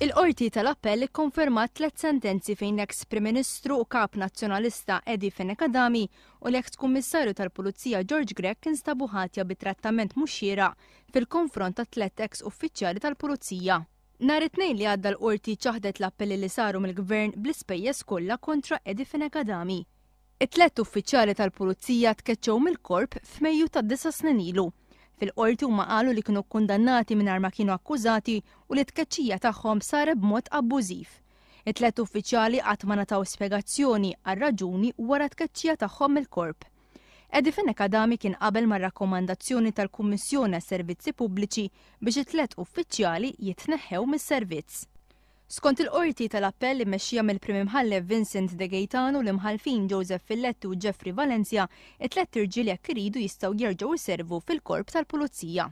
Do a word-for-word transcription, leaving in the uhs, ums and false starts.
Il-Qorti tal-Appell ikkonfermat tliet sentenzi fejn l-eks Prim Ministru u Kap Nazzjonalista Eddie Fenech Adami u l-eks Kummissarju tal-Pulizija George Grech instabu ħatja bi trattament mhux xieraq fil-konfront ta' tliet eks uffiċjali tal-Pulizija. Nhar it-Tnejn li għadda l-Qorti ċaħdet l-appelli li saru mill-Gvern bl-ispejjeż kollha kontra Eddie Fenech Adami. It-tliet uffiċjali tal-Pulizija tkeċċew mill-korp f'Mejju ta' disa' snin ilu. Fil-qorti huma qalu li kienu kkundannati mingħajr ma kienu akkużati u li t-tkeċċija tagħhom saret b'mod abbużiv. It-tliet uffiċjali qatt ma ngħataw spjegazzjoni għar-raġuni wara t-tkeċċija tagħhom mill-korp. Eddie Fenech Adami kien qabel mar-rakkomandazzjoni tal-Kummissjoni għas-Servizzi Pubbliċi biex it-tliet uffiċjali jitneħħew mis-servizz. Skont il-Qorti tal-Appell immexxija mill-Prim Imħallef Vincent De Gaetano u l-Imħallfin Joseph Filletti u Jeffrey Valencia, it-tliet irġiel jekk iridu jistgħu jerġgħu jservu fil-korp tal-Pulizija.